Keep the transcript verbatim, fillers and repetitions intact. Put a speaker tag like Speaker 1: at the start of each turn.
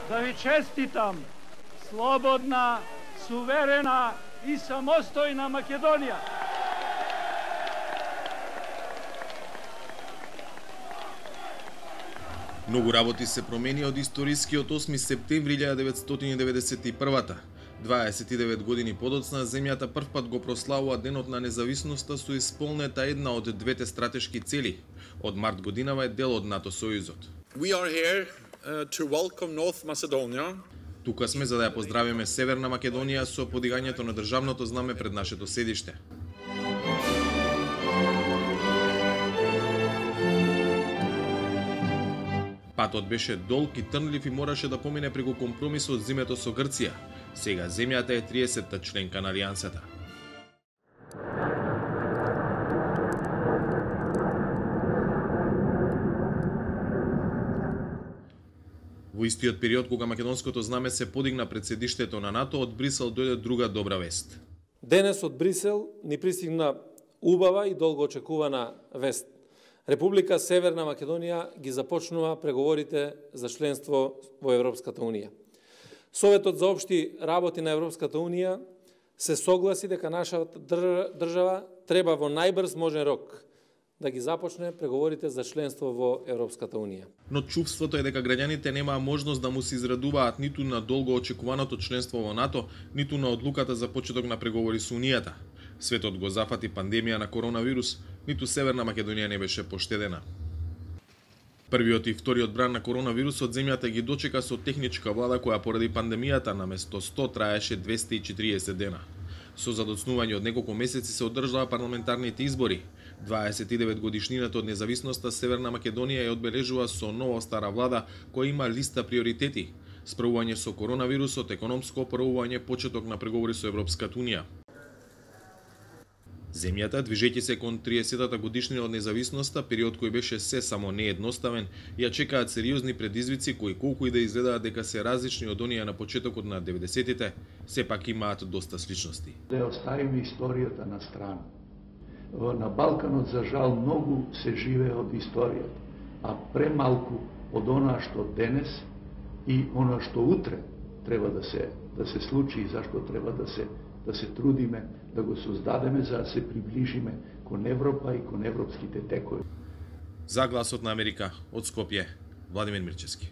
Speaker 1: да ви честитам слободна, суверена и самостојна Македонија.
Speaker 2: Многу работи се промени од историскиот осми септември илјадесет деветстотини деветдесет и прва. дваесет и девет години подоцна, земјата првпат го прославува денот на независноста со исполнета една од двете стратешки цели. Од март годинава е дел од НАТО сојузот.
Speaker 3: We are here uh, to welcome North Macedonia.
Speaker 2: Тука сме за да ја поздравиме Северна Македонија со подигањето на државното знаме пред нашето седиште. Патот беше долг и трнлив и мораше да помине преку компромисот зимето со Грција. Сега земјата е триесетта членка на Алијансата. Во истиот период кога македонското знаме се подигна пред седиштето на НАТО, од Брисел дојде друга добра вест.
Speaker 4: Денес од Брисел ни пристигна убава и долго очекувана вест. Република Северна Македонија ги започнува преговорите за членство во Европската Унија. Советот за општи работи на Европската Унија се согласи дека нашата држава треба во најбрз можен рок да ги започне преговорите за членство во Европската Унија.
Speaker 2: Но чувството е дека граѓаните немаа можност да му се израдуваат ниту на долго очекуваното членство во НАТО, ниту на одлуката за почеток на преговори со Унијата. Светот го зафати пандемија на коронавирус, ниту Северна Македонија не беше поштедена. Првиот и вториот бран на коронавирусот земјата ги дочека со техничка влада која поради пандемијата наместо сто траеше двесте и четириесет дена. Со задоцнување од неколку месеци се одржаа парламентарните избори. дваесет и девет годишнината од независноста Северна Македонија ја одбележува со нова стара влада која има листа приоритети: справување со коронавирусот, економско оправување, почеток на преговори со Европската Унија. Земјата, движејќи се кон триесеттата годишнина од независноста, период кој беше се само неедноставен, ја чекаат сериозни предизвици кои колку и да изгледаат дека се различни од оние на почетокот на деветдесетите, сепак имаат доста сличности.
Speaker 5: Да оставиме историјата на страна. На Балканот, за жал, многу се живее од историјата, а премалку од она што денес и она што утре треба да се да се случи и зашто треба да се да се трудиме да го создадеме за да се приближиме кон Европа и кон европските текови.
Speaker 2: За Гласот на Америка од Скопје, Владимир Мирчевски.